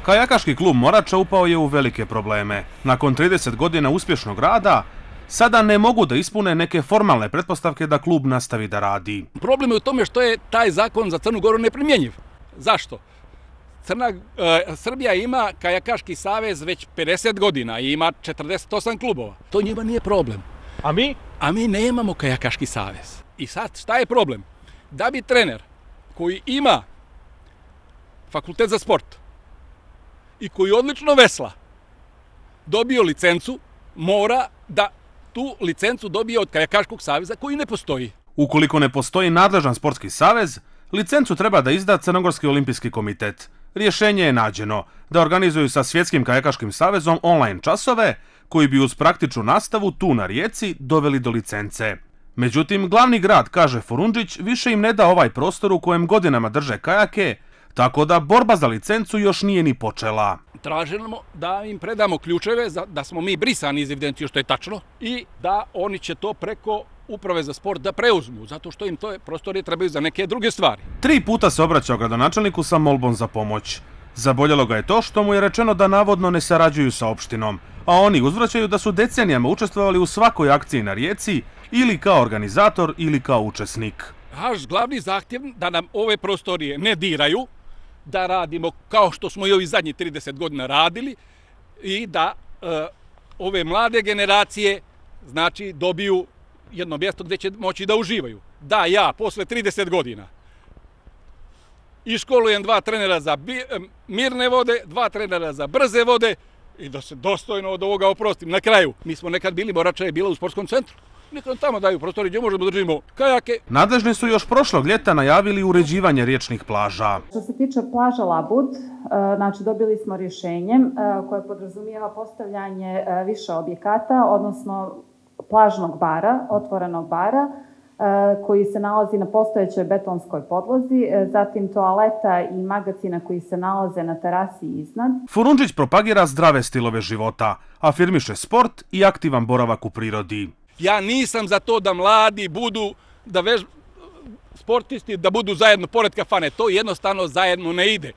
Kajakaški klub Morača upao je u velike probleme. Nakon 30 godina uspješnog rada, sada ne mogu da ispune neke formalne pretpostavke da klub nastavi da radi. Problem je u tome što je taj zakon za Crnu Goru neprimjenjiv. Zašto? Srbija ima Kajakaški savez već 50 godina i ima 48 klubova. To njima nije problem. A mi? A mi nemamo Kajakaški savez. I sad šta je problem? Da bi trener koji ima fakultet za sport i koji odlično vesla dobio licencu, mora da tu licencu dobije od Kajakaškog saveza koji ne postoji. Ukoliko ne postoji nadležan sportski savez, licencu treba da izda Crnogorski olimpijski komitet. Rješenje je nađeno da organizuju sa Svjetskim kajakaškim savezom online časove koji bi uz praktičnu nastavu tu na rijeci doveli do licence. Međutim, glavni grad, kaže Forundžić, više im ne da ovaj prostor u kojem godinama drže kajake, tako da borba za licencu još nije ni počela. Tražimo da im predamo ključeve, da smo mi brisani iz evidencije, što je tačno, i da oni će to preko Uprave za sport da preuzmu, zato što im to prostorije trebaju za neke druge stvari. 3 puta se obraćao gradonačelniku sa molbom za pomoć. Zaboljelo ga je to što mu je rečeno da navodno ne sarađuju sa opštinom, a oni uzvraćaju da su decenijama učestvovali u svakoj akciji na rijeci ili kao organizator ili kao učesnik. Naš glavni zahtjev da nam ove prostorije ne diraju, da radimo kao što smo i ovi zadnji 30 godina radili i da ove mlade generacije znači dobiju jedno mjesto gdje će moći da uživaju. Da ja posle 30 godina iškolujem 2 trenera za mirne vode, 2 trenera za brze vode i da se dostojno od ovoga oprostim. Na kraju, mi smo nekad bili, Morača je bila u sportskom centru. Nekad tamo daju prostori gdje možemo da držimo kajake. Nadležni su još prošlog ljeta najavili uređivanje riječnih plaža. Što se tiče plaža Labud, znači dobili smo rješenje koje podrazumijeva postavljanje više objekata, odnosno plažnog bara, otvorenog bara, koji se nalazi na postojećoj betonskoj podlozi, zatim toaleta i magacina koji se nalaze na terasi iznad. Forundžić propagira zdrave stilove života, afirmiše sport i aktivan boravak u prirodi. Ja nisam za to da mladi budu, sportisti da budu zajedno pored kafane. To jednostavno zajedno ne ide.